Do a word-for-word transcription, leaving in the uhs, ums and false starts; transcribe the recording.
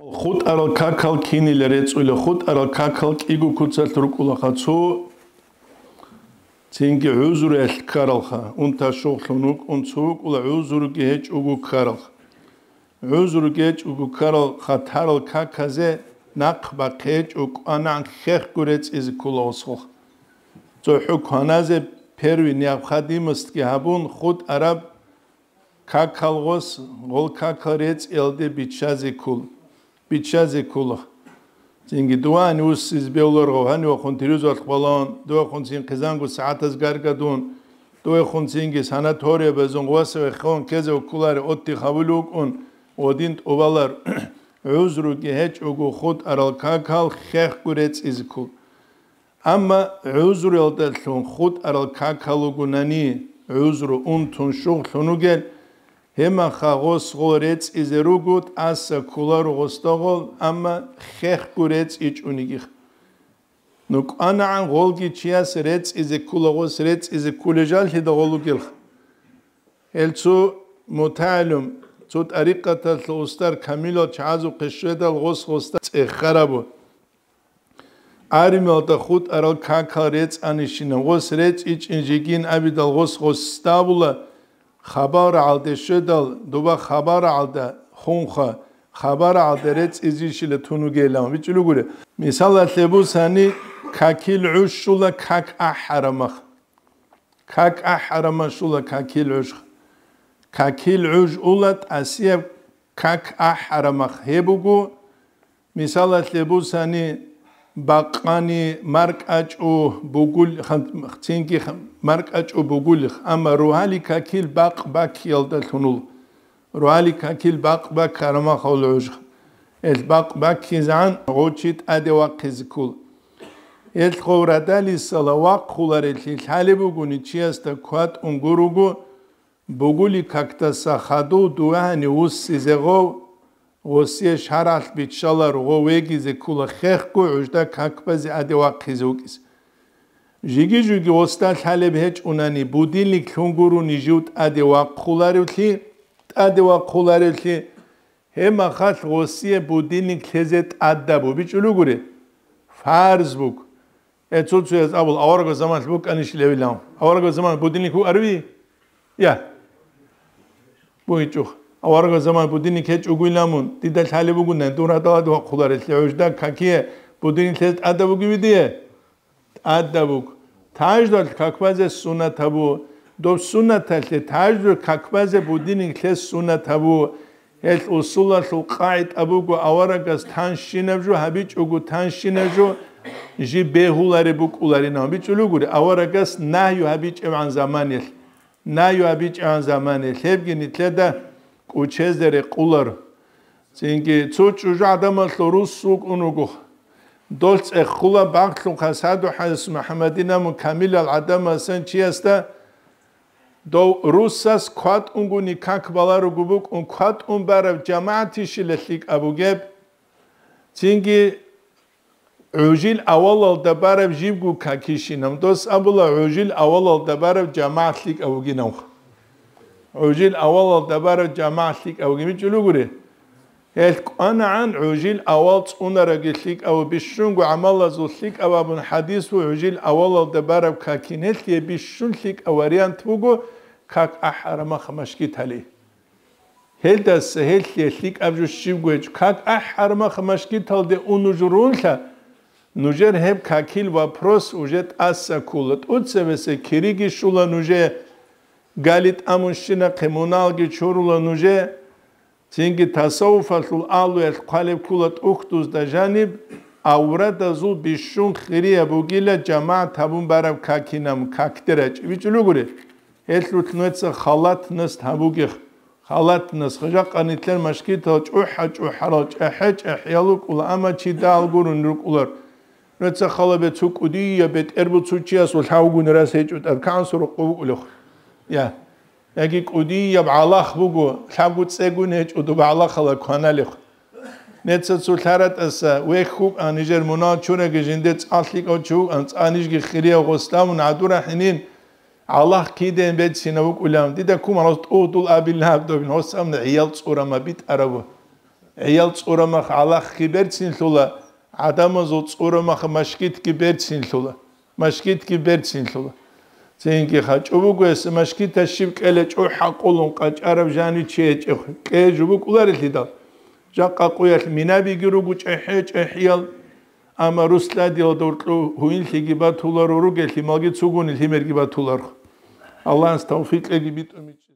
ХутӀарал какал кинила рецӀула, хутӀарал какал кӀиго куцалъ рукӀулаха, цо цинги гӀузруялъ ккаралха, унта-щугълъун вукӀун, цо вукӀула гӀузруги гьечӀого ккаралха. ГӀузруги гьечӀого ккарал хатарал каказе нахъ бахъи гьечӀо, кӀванагӀан хехго рецӀизе ккола гъосхъ. ЦохӀо кваназе первый необходимостьги гьабун, хутӀараб какал гъос, гъол какал рецӀиялде биччазе ккол-, биччазе ккола. Цинги дуван уссиз бевларгъав, гьанивахун тирузалъ балан, дувахун цин хъизанго сагӀатаз гаргадун, дувахун цинги санаториябазун гъосаве хон ккезе кколаре отдих гьабулев вукӀун, гъодин тӀубалар, гӀузруги гьечӀого хутӀарал какал хехго рецӀизе ккол. Амма гӀузруялдалъун хутӀарал какал вугунани, гӀузру унтун-щугълъун вугел, гьемаха гъос гъол рецӀизе руго, тӀаса кколаро гъосда гъол, амма хехго рецӀичӀониги. Ну кӀванагӀан гъолги чияс рецӀизе ккола, гъос рецӀизе кколей жаллъида гъол вугелха. Гьел цо мутагӀалим, цо тӀарикъаталъул устар камилал чагӀазухъе щведал гъос гъосда цӀехарабу. Армиялда хутӀарал какал рецӀанищинаб, гъос рецӀичӀин жигин абидал гъос гъосда була, хабар гӀалде щведал, дуба хабар гӀалда хунха, хабар гӀалда рецӀизищила тун вугилан бичӀчӀулугури. Мисалалъе бусани, какил гӀуш щула как ахӀарамах. Как ахӀарамах щула какил гӀуш. Какил гӀуш ула тӀасияб как ахӀарамах гьеб буго, мисалалъе бусани, бакъани маркӀачӀу бугул-, хан-, цинги хан-, маркӀачӀу бугулих, амма ругьали какил бакъ баккиялдалъун ула. Ругьали какил бакъ баккарамахал гӀуж. Эл бакъ баккизегӀан гъочи тӀаде вахъизе ккол. Эл хъов радалисала вахъуларелъи лъалеб бугони чиясда кватӀун гуруго, бугули какдаса хадув дугьани вуссизе гъов, гъосие шаргӀалъ биччаларо гъов вегизе ккола хехго гӀужда какбазе аде вахъизе вукӀизе. Жиги-жуги гъосда лъалеб гьечӀунани, будильник лъун гурони жив тӀаде вахъуларевлъи, тӀаде вахъуларевлъи, гьеб махалъ гъосие будильник лъезе тӀадабу бичӀулугури, фарз буго. Э, цо-цояз абул, аварагас заманалъ букӀанищ левилан. Аварагас заман будильник букӀариви? Я. БугьичӀухъ. Аварагас заман будильник гьечӀогуйла мун, дида лъалеб бугунай, дур гьадал аде вахъуларелъи гӀужда какие будильник лъезе тӀадаб бугеви дие? ТӀадаб буго. Таждал какбазе сунат гьабу. Доб сунаталъе таждур какбазе будильник лъез сунат гьабу. Гьел усулалъул къагӀида буго, аварагас танщинаб жо гьабичӀого, танщинаб жо жиб бегьулареб букӀуларинав бичӀулугури, аварагас нагью гьабичӀебгӀан заманалъ. Нагью гьабичӀебгӀан заманалъ гьебги нилъеда кӀучезе рекъуларо. Цинги цо чӀужу гӀадамалъул рус вукӀун вуго. Дол цӀехула багълъун хасадухӀа МухӀаммадинамун камилал гӀадамасан чиясда дов русас кватӀунгуни как баларуго букӀун, кватӀун бараб жамагӀатищила лъикӀаб бугеб? Цинги гӀужил авалалда бараб жибго какищинаб, дос абула гӀужил авалалда бараб жамагӀат лъикӀав вугинавха. ГӀужил авалалда бараб жамагӀат лъикӀав вугин бичӀулугури. Гьел кӀванагӀан гӀужил авал цӀунараги лъикӀав, бищунго гӀамалазул лъикӀав абун хӀадису гӀужил авалалда бараб какин гьелъие бищун лъикӀав вариант буго, как ахӀарамаха машгитали. Гьелдаса гьелъие лъикӀаб жо щибго гьечӀо. Как ахӀарамаха машгиталде ун нуж рунлъа, нужер гьеб какил вопрос уже тӀаса ккула. ТӀуцебесеб кириги щула нужее, гали тӀамун щинахъе муналги чурула нужее, цинги тасаввуфалъул агьлуялъ хъвалеб ккула тӀухьдузда жаниб, аврадазул бищун хирияб бугила жамагӀат гьабун бараб какинаб, какде рачӀи. БичӀулугури. Гьелъулъ нужеца халатность гьабугех. Халатность, жакъа нилъер машгитал чӀухӀа-чӀухӀарал, чӀехӀе-чӀехӀиял рукӀула, амма чидал гурун рукӀулар. Нужеца халабе цо кӀудияб бетӀер буцучиясул лъавгун рас гьечӀо тӀад кагӀан сорокъо букӀулехъ. Я. Яги кӀудияб гӀалах буго, лъабго цӀегун гьечӀо доб гӀалахала кваналехъ. Неца цо лъаратӀаса вехь вукӀан, нижер мунал чураги жинде цӀа лъикӀав чи вукӀан, цӀа нижги хирияв гъосдамун гӀадурахӀинин, гӀалах кидеян бецина вукӀулан, дида кумалас тӀугьдул абилан гьаб добин, гьосамна гӀиял цӀурама битӀарабу. ГӀиял цӀурамах гӀалахги берцинлъула, гӀадамазул цӀурамах машгитги берцинлъула, машгитги берцинлъула. Цинги хачӀу буго гьес машгитас щиб кьела чӀухӀа къулун къачӀараб жанив чи гьечӀеб кье жубукӀуларелъидал. Жакъа къуялъ минабиги руго чӀехӀе-чӀехӀиял, амма русладиялда уркьу гьуинлъиги батуларо, ругелъи малги цугуни лъимерги батуларх. Аллагьас тавфикъеги битӀумичӀ.